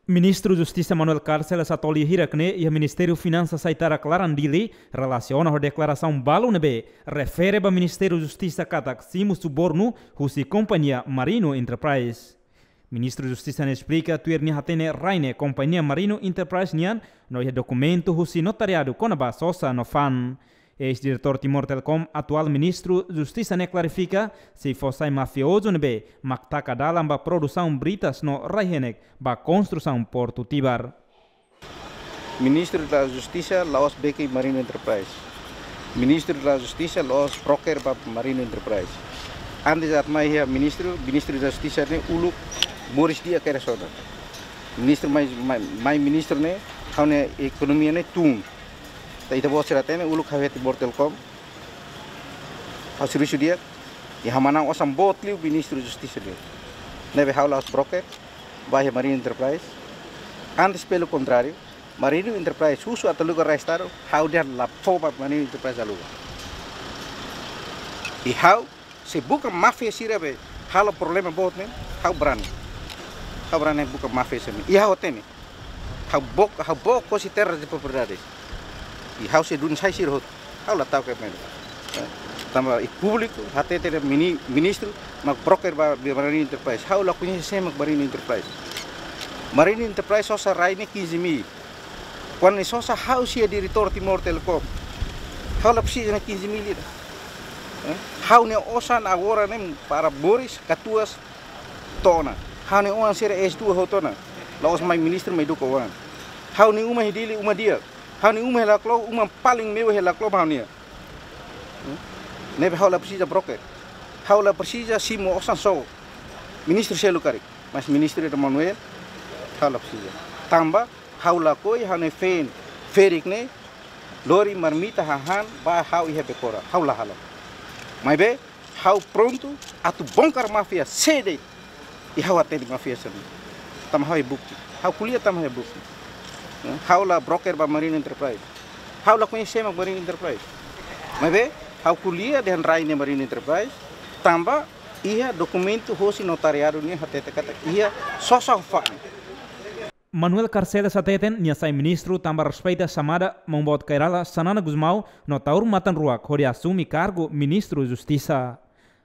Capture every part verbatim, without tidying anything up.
Ministru Justisa Manuel Carcel Satolli hirak ne'e iha Ministériu Finansas Aitarak Laran Dili relasiona ho deklarasaun balu ne'ebé refere ba Ministériu Justisa katak simu subornu husi kompañia Marino Enterprise. Ministru Justisa ne'e esplika tuir nia hatene rai ne'e kompañia Marino Enterprise nian no iha dokumentu husi notariadu kona-ba sosa no fa'an. Eis-diretór Timor Telecom, atuál Ministru Justisa ne'e klarifika, sei fó sai mafiozu ne'ebé mak taka dalan ba produsaun britas no rai-henek ba konstrusaun Portu Tibar. Ministru da Justisa la'ós beki Marino Enterprise. Ministru da Justisa la'ós broker ba Marino Enterprise. Antes atu mai iha ministru, Ministru da Justisa ne'e uluk moris di'ak kedas ona. Ministru mai, mai, mai ministru ne'e, ha'u-nia ekonomia ne'e tun. Ita, ita-boot sira hatene uluk ha'u iha Timor Telecom. Ha'u servisu di'ak, i ha'u manán osan boot liu Ministru Justisa nian. Ne'ebé ha'u la'ós broker ba iha Marino Enterprise. Antes, pelo contrário, Marino Enterprise husu atu aluga rai Estadu, ha'u dehan la fó ba Marino Enterprise aluga. I ha'u, se buka máfia sira be halo problema boot ne'e, ha'u brani. Ha'u brani buka máfia sira ne'e. I ha'u hatene. Ha'u book, ha'u book hosi terras de propriedades. I ha'u sei dun sai sira hotu. Ha'u la ta'uk medo. Tanba iha públiku hatete dehan mini-, ministru mak broker ba, ba Marino Enterprise. Ha'u la koñese sé mak Marino Enterprise. Marino Enterprise sosa rai ne'e quinze mil. Kuandu ne'e sosa ha'u sei diretór Timor Telecom, ha'u la presiza ne'e quinze mil ida. Eh? Ha'u-nia osan agora ne'e para moris, katuas, to'o ona. Ha'u-nia oan sira S dua hotu ona. La'ós mai ministru mai eduka oan. Ha'u-nia uma iha Dili uma di'ak. Ha'u-nia uma iha Laclo uma paling mewah iha Laclo ha'u-nia. Hmm? Ne'ebé ha'u la presiza broker. Ha'u la presiza simu osan só. Ministru seluk karik. Mas Ministru Ida Manuel, ha'u la presiza. Tanba, ha'u lakohi ha'u-nia feen ferik ne'e lori marmita hahán ba ha'u iha Bekora. Ha'u la halo. Maibé, ha'u prontu atu bongkar máfia sé de'it. I ha'u hatene máfia sira-ne'e. Tanba ha'u iha bukti. Ha'u ko'alia tanba ha'u iha bukti. Eh, ha'u la broker ba Marino Enterprise. Ha'u la koñese sé mak Marino Enterprise. Maibé, ha'u ko'alia dehan rai ne'e Marino Enterprise. Tanba iha dokumentu hosi notariadu nian hatete katak iha sosa ho fa'an. Manuel Carcel hateten nia sai ministru tanba respeita xamada Maun Boot Kay Rala Xanana Gusmão no Taur Matan Ruak hodi asume kargu Ministru Justisa.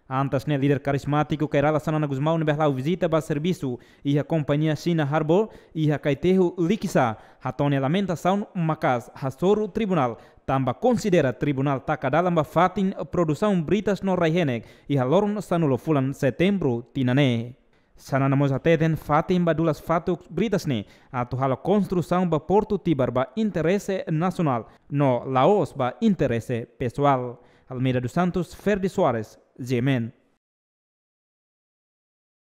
Antes ne'e, líder karizmátiku Kay Rala Xanana Gusmão ne'ebé hala'o vizita ba servisu iha kompañia China Harbour iha Kaitehu Likisá, hato'o nia lamentasaun maka'as hasoru tribunál tanba konsidera tribunál taka dalan ba fatin produsaun britas no rai-henek iha loron sanulu fulan Setembru tinan ne'e. Xanana mós hateten fatin ba dulas fatuk britas ne'e atu halo konstrusaun ba Portu Tibar ba interese nasionál no la'ós ba interese pesoál. Almeida dos Santos, Ferdi Soares, G M N.